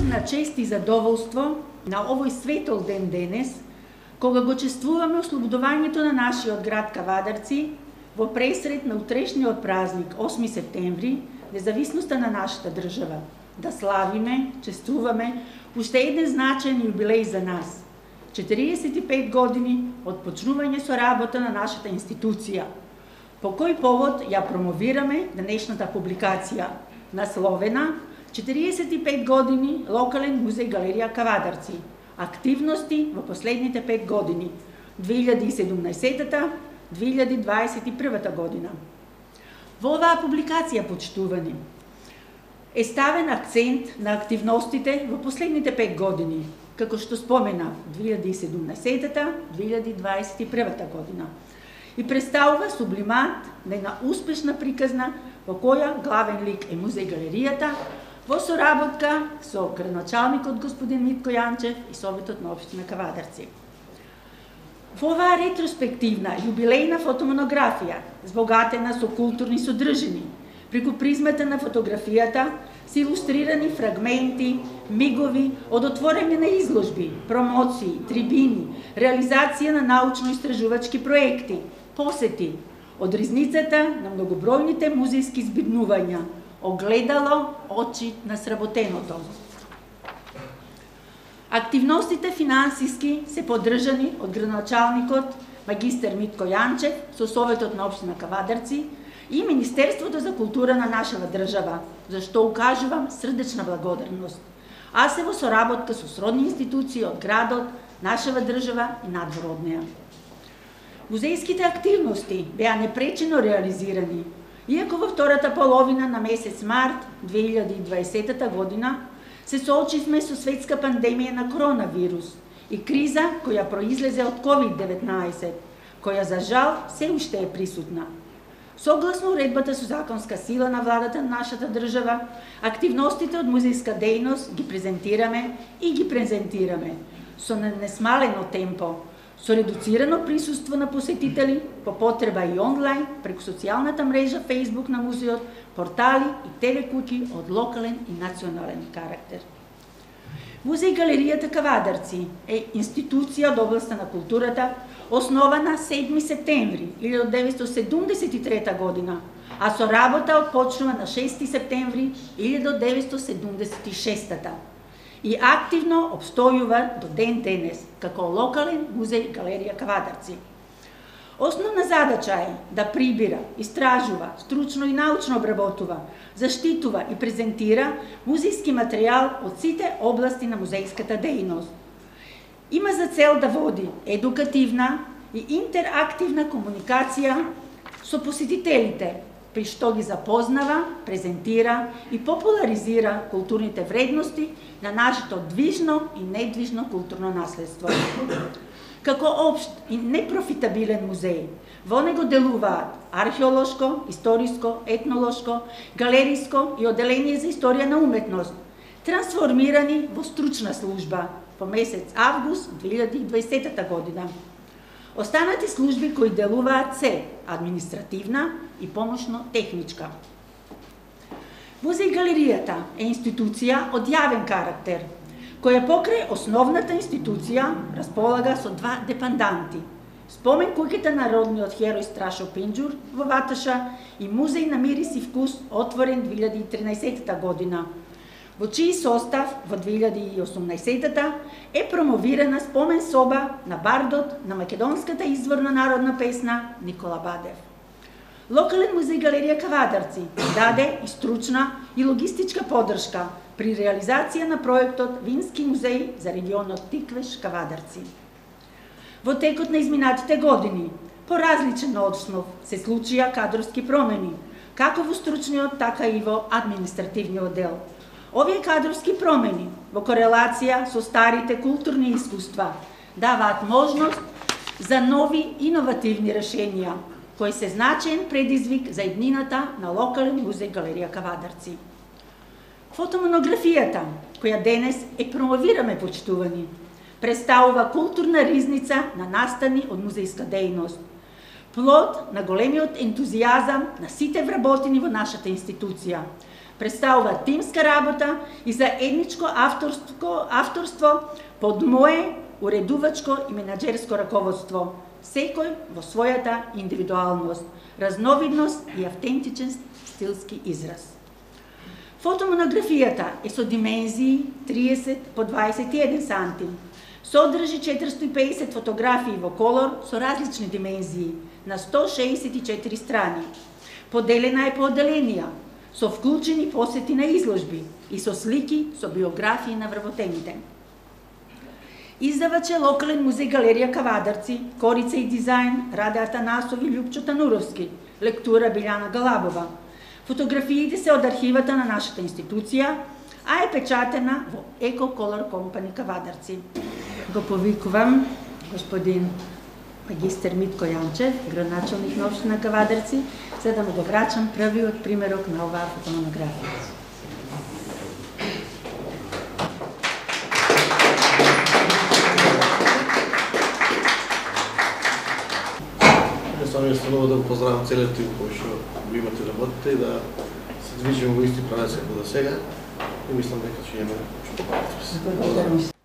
на чест и задоволство на овој светол ден денес, кога го чествуваме ослободувањето на нашиот град Кавадарци во пресред на утрешниот празник 8 септември, независноста на нашата држава, да славиме, чествуваме уште еден значаен јубилеј за нас. 45 години од почнување со работа на нашата институција. По кој повод ја промовираме денешната публикација, насловена 45 години локален музеј галерија Кавадарци. Активности во последните 5 години, 2017-2021 година. Во оваа публикација, почитувани, е ставен акцент на активностите во последните 5 години, како што спомена 2017-2021 година, и представува сублимат на една успешна приказна во која главен лик е музеј галеријата, во соработка со градоначалникот господин Митко Јанчев и Советот на општина Кавадарци. Во оваа ретроспективна јубилејна фотомонографија, збогатена со културни содржини, преку призмата на фотографијата се илустрирани фрагменти, мигови од отворење на изложби, промоции, трибини, реализација на научно-истражувачки проекти, посети, од ризницата на многобројните музејски збирнувања, огледало очи на сработеното. Активностите финансиски се поддржани од градоначалникот магистер Митко Јанчев со Советот на општина Кавадарци и Министерството за култура на нашава држава, за што укажувам срдечна благодарност, а се во соработка со сродни институции од градот, нашава држава и надвор од неа. Музејските активности беа непречено реализирани, иако во втората половина на месец март 2020 година се соочивме со светска пандемија на коронавирус и криза која произлезе од COVID-19, која за жал се уште е присутна. Согласно уредбата со законска сила на владата на нашата држава, активностите од музејска дејност ги презентираме со несмалено темпо, со редуцирано присуство на посетители, по потреба и онлайн, преку социјалната мрежа Facebook на музеот, портали и ТВ куќи од локален и национален карактер. Музеј галеријата Кавадарци е институција од областта на културата, основана 7 септември 1973 година, а со работа отпочнува на 6 септември 1976 и активно обстојува до ден денес како локален музеј галерија Кавадарци. Основна задача е да прибира, истражува, стручно и научно обработува, заштитува и презентира музејски материјал од сите области на музејската дејност. Има за цел да води едукативна и интерактивна комуникација со посетителите, при што ги запознава, презентира и популаризира културните вредности на нашето движно и недвижно културно наследство. Како општ и непрофитабилен музеј, во него делуваат археолошко, историско, етнолошко, галериско и оделение за историја на уметност, трансформирани во стручна служба во месец август 2020 година. Останати служби кои делуваат се административна и помошно-техничка. Музеј галеријата е институција од јавен карактер, која покрај основната институција располага со два депанданти. Спомен куќата на родниот херој Страшо Пинџур во Ваташа и музеј на мирис и вкус, отворен 2013 година, во чиј состав во 2018 е промовирана спомен соба на бардот на македонската изворна народна песна Никола Бадев. Локален музеј галерија Кавадарци даде и стручна и логистичка поддршка при реализација на проектот Вински музеј за регионот Тиквеш Кавадарци. Во текот на изминатите години, по различен основ се случија кадровски промени, како во стручниот, така и во административниот дел. Овие кадровски промени, во корелација со старите културни искуства, даваат можност за нови иновативни решенија, кои се значаен предизвик за иднината на локален музеј галерија Кавадарци. Фотомонографијата, која денес е промовираме, почитувани, представува културна ризница на настани од музејска дејност. плод на големиот ентузијазам на сите вработени во нашата институција. Представува тимска работа и заедничко авторство под мое уредувачко и менаџерско раководство, секој во својата индивидуалност, разновидност и автентичен стилски израз. Фотомонографијата е со димензии 30 по 21 сантим. Содржи 450 фотографии во колор со различни димензии на 164 страни. Поделена е по одделенија, со вклучени посети на изложби и со слики со биографии на вработените. Издавач е локален музеј галерија Кавадарци, Корица и дизајн Раде Атанасов и Љупчо Тануровски, лектура Билјана Галабова. Фотографиите се од архивата на нашата институција, а е печатена во Еко Колор Компани Кавадарци. Го повикувам господин магистер Митко Јанчев, градоначалник на општина Кавадарци, за да му го врачам првиот примерок на оваа фотомонографија. Станува да го поздравам целиот тим кој што го имате работите и да се движиме во исти правец како до сега и мислам дека ќе имаме што добро.